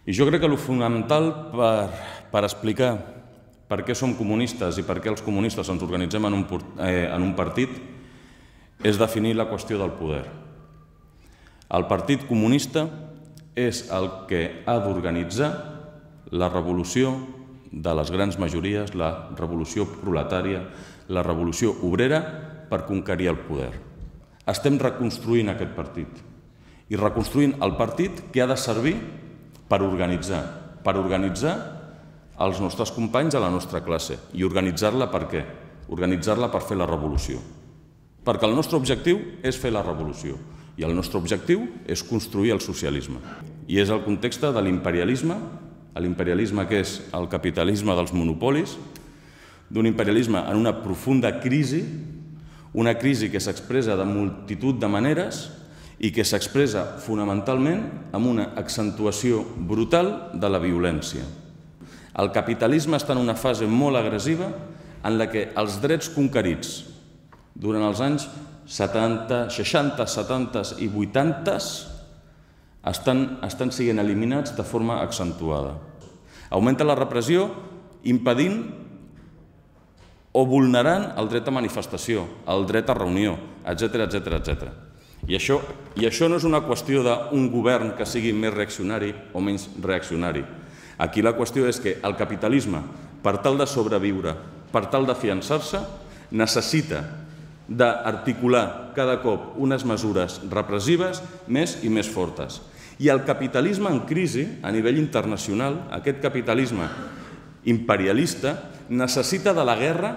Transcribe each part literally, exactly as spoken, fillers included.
I jo crec que el fonamental per, per explicar per què som comunistes i per què els comunistes ens organitzem en un, eh, en un partit és definir la qüestió del poder. El Partit Comunista és el que ha d'organitzar la revolució de les grans majories, la revolució proletària, la revolució obrera per conquerir el poder. Estem reconstruint aquest partit i reconstruint el partit que ha de servir per organitzar, per organitzar els nostres companys a la nostra classe. I organitzar-la per què? Organitzar-la per fer la revolució. Perquè el nostre objectiu és fer la revolució i el nostre objectiu és construir el socialisme. I és el context de l'imperialisme, l'imperialisme que és el capitalisme dels monopolis, d'un imperialisme en una profunda crisi, una crisi que s'expressa de multitud de maneres i que s'expressa fonamentalment amb una accentuació brutal de la violència. El capitalisme està en una fase molt agressiva en la que els drets conquerits durant els anys setanta, seixanta, setanta i vuitanta estan, estan sent eliminats de forma accentuada. Augmenta la repressió impedint o vulnerant el dret a manifestació, el dret a reunió, etcètera, etcètera, etcètera. I això, I això no és una qüestió d'un govern que sigui més reaccionari o menys reaccionari. Aquí la qüestió és que el capitalisme, per tal de sobreviure, per tal de fiançar-se, necessita d'articular cada cop unes mesures repressives més i més fortes. I el capitalisme en crisi, a nivell internacional, aquest capitalisme imperialista, necessita de la guerra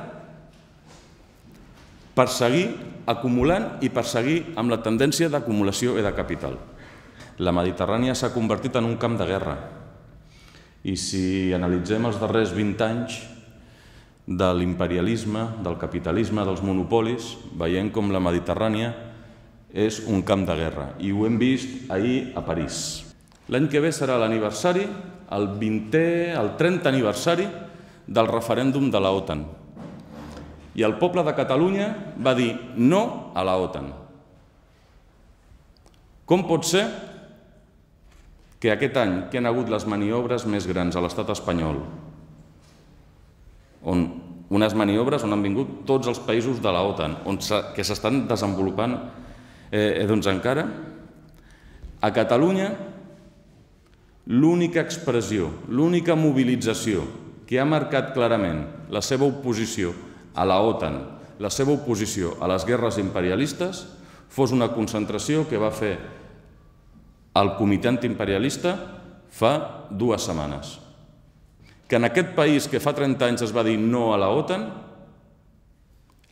per seguir acumulant i per seguir amb la tendència d'acumulació i de capital. La Mediterrània s'ha convertit en un camp de guerra. I si analitzem els darrers vint anys de l'imperialisme, del capitalisme, dels monopolis, veiem com la Mediterrània és un camp de guerra. I ho hem vist ahir a París. L'any que ve serà l'aniversari, el vintè, el trentè aniversari del referèndum de la OTAN. I el poble de Catalunya va dir no a la OTAN. Com pot ser que aquest any que han hagut les maniobres més grans a l'estat espanyol, on unes maniobres on han vingut tots els països de la OTAN, on que s'estan desenvolupant eh, doncs encara, a Catalunya l'única expressió, l'única mobilització que ha marcat clarament la seva oposició a la OTAN, la seva oposició a les guerres imperialistes, fos una concentració que va fer el comitè antiimperialista fa dues setmanes. Que en aquest país que fa trenta anys es va dir no a la OTAN,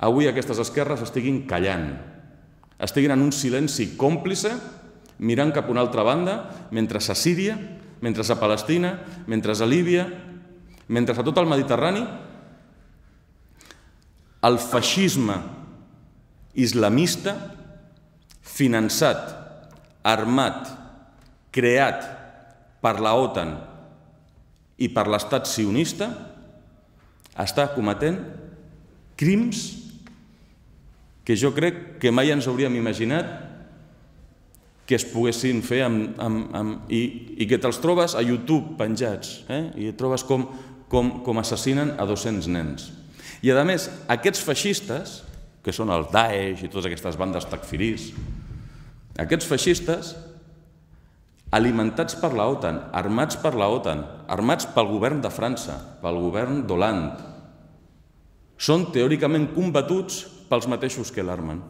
avui aquestes esquerres estiguin callant, estiguin en un silenci còmplice, mirant cap a una altra banda, mentre a Síria, mentre a Palestina, mentre a Líbia, mentre a tot el Mediterrani, el feixisme islamista, finançat, armat, creat per la OTAN i per l'estat sionista, està cometent crims que jo crec que mai ens hauríem imaginat que es poguessin fer amb, amb, amb, i, i que te'ls trobes a YouTube penjats, eh? I et trobes com, com, com assassinen a dos-cents nens. I a més, aquests feixistes, que són el Daesh i totes aquestes bandes takfiris, aquests feixistes alimentats per la OTAN, armats per la OTAN, armats pel govern de França, pel govern d'Hollande, són teòricament combatuts pels mateixos que l'armen.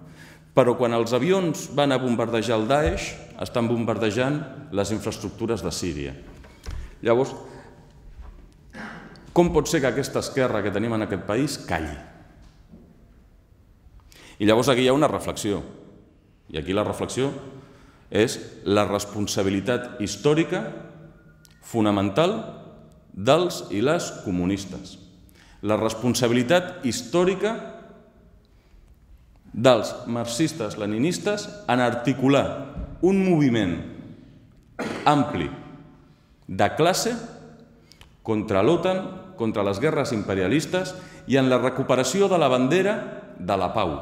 Però quan els avions van a bombardejar el Daesh, estan bombardejant les infraestructures de Síria. Llavors, com pot ser que aquesta esquerra que tenim en aquest país calli? I llavors aquí hi ha una reflexió. I aquí la reflexió és la responsabilitat històrica fonamental dels i les comunistes. La responsabilitat històrica dels marxistes-leninistes en articular un moviment ampli de classe contra l'OTAN, contra les guerres imperialistes i en la recuperació de la bandera de la pau.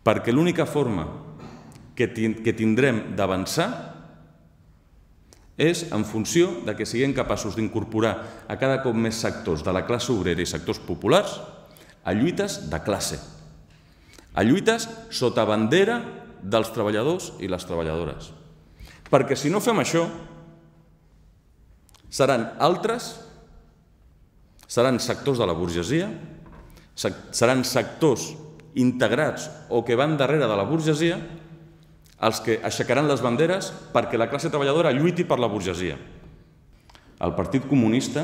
Perquè l'única forma que tindrem d'avançar és en funció de que siguem capaços d'incorporar a cada cop més sectors de la classe obrera i sectors populars a lluites de classe, a lluites sota bandera dels treballadors i les treballadores. Perquè si no fem això, seran altres, seran sectors de la burgesia, seran sectors integrats o que van darrere de la burgesia els que aixecaran les banderes perquè la classe treballadora lluiti per la burgesia. El Partit Comunista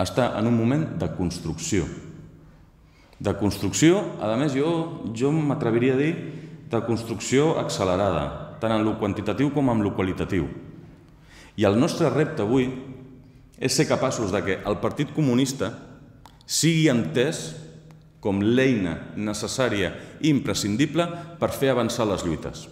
està en un moment de construcció. De construcció, a més, jo, jo m'atreviria a dir de construcció accelerada, tant en lo quantitatiu com en lo qualitatiu. I el nostre repte avui és ser capaços de que el Partit Comunista sigui entès com l'eina necessària i imprescindible per fer avançar les lluites.